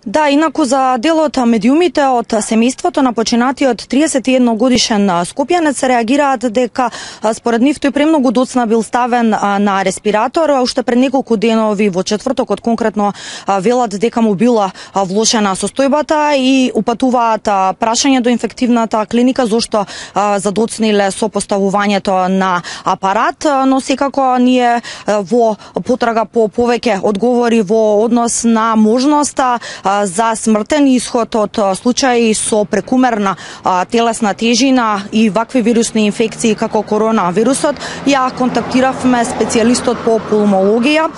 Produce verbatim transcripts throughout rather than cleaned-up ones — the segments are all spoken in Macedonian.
Да, инаку за делот медиумите од семејството на починатиот триесет и едно годишен скопјанец реагираат дека според нив тој премногу доцна бил ставен на респиратор. Уште пред неколку денови во четвртокот конкретно велат дека му била влошена состојбата и упатуваат прашање до инфективната клиника зошто задоцниле со поставувањето на апарат, но секако ние во потрага по повеќе одговори во однос на можноста за смртен исход од случаи со прекумерна а, телесна тежина и вакви вирусни инфекции како коронавирусот, ја контактиравме специјалистот по пулмологија,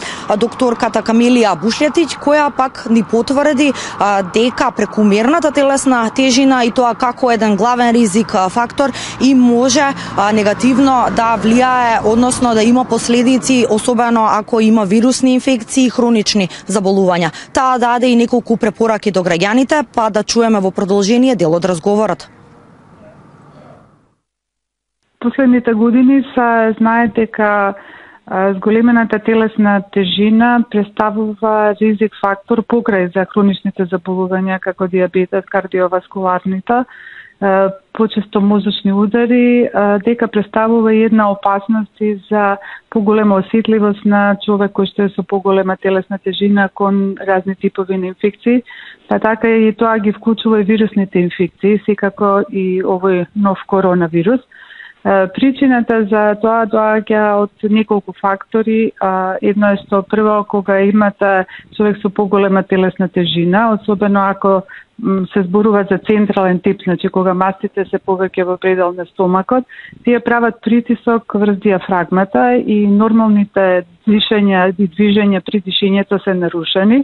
докторката Камилија Бушлетич, која пак ни потврди а, дека прекумерната телесна тежина и тоа како еден главен ризик а, фактор и може а, негативно да влијае, односно да има последици, особено ако има вирусни инфекции и хронични заболувања. Таа даде и неколку препораки до граѓаните, па да чуеме во продолжение дел од разговорот. Последните години се знае дека зголемената телесна тежина представува ризик фактор покрај за хроничните заболувања како дијабетот, кардиоваскуларните, почесто мозочни удари, дека представува една опасност и за поголема осетливост на човек кој што е со поголема телесна тежина кон разни типови на инфекции, па така и тоа ги вклучува и вирусните инфекции, секако и овој нов коронавирус. Причината за тоа доаѓа од неколку фактори. Едно е што прво кога имате човек со поголема телесна тежина, особено ако се зборува за централен тип, значи кога мастите се повеќе во предел на стомакот, тие прават притисок врз диафрагмата и нормалните дишења и движења при дишењето се нарушени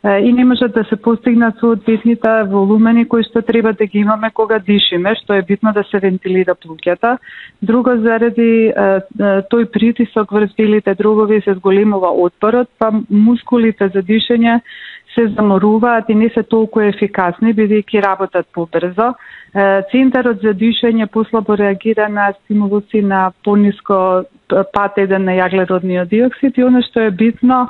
и не можат да се постигнат соодветните волумени кои што треба да ги имаме кога дишиме, што е битно да се вентилира плуќата. Друго, заради тој притисок врз белите дробови се зголемува отпорот, па мускулите за дишење се заморуваат и не се толку ефикасни, бидејќи работат побрзо. Центарот за дишење послабо реагира на стимулуси на пониско пат еден на јаглеродниот диоксид и оно што е битно,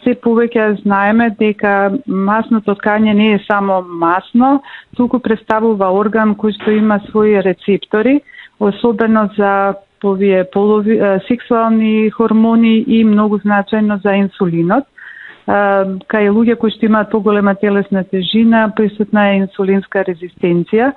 се повеќе знаеме дека масното ткање не е само масно, туку представува орган кој што има своји рецептори, особено за овие полови, сексуални хормони и многу значајно за инсулинот. Кај луѓе кои што имаат поголема телесна тежина, присутна е инсулинска резистенција,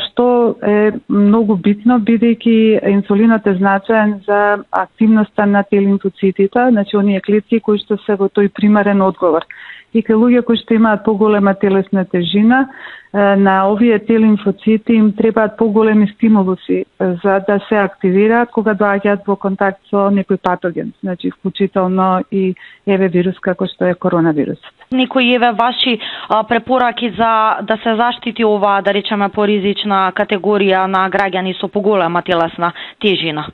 што е многу битно, бидејќи инсулинот е значаен за активноста на Т-лимфоцитите, значи оние клетки кои што се во тој примарен одговор. И кај луѓе кои што имаат поголема телесна тежина, на овие Т-лимфоцити им требаат поголеми стимулуси за да се активираат кога доаѓаат во контакт со некој патоген, значи вклучително и еве вирус како што е коронавирусот. Некои еве ваши а, препораки за да се заштити ова, да речеме, поризична категорија на граѓани со поголема телесна тежина?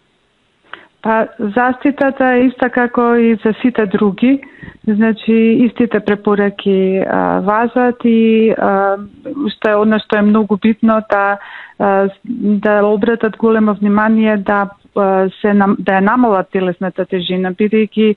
Па, заштитата е иста како и за сите други, значи истите препораки а, важат и а, што е оно што е многу битно да а, да обратат големо внимание да се да ја намалат телесната тежина, бидејќи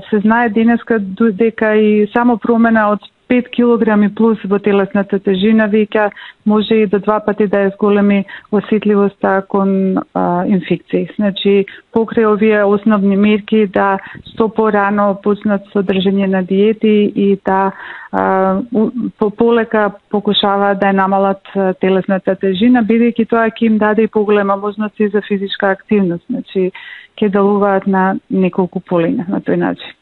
се знае денеска дека и само промена од пет килограми плюс во телесната тежина веќе може и до два пати да ја зголеми осетливоста кон а, инфекции. Значи, покрај овие основни мерки да што порано почнат со држење на диети и да а, по полека покушаваат да ја намалат телесната тежина, бидејќи тоа ќе им даде и поголема можности за физичка активност. Значи, ќе делуваат на неколку полина на тој начин.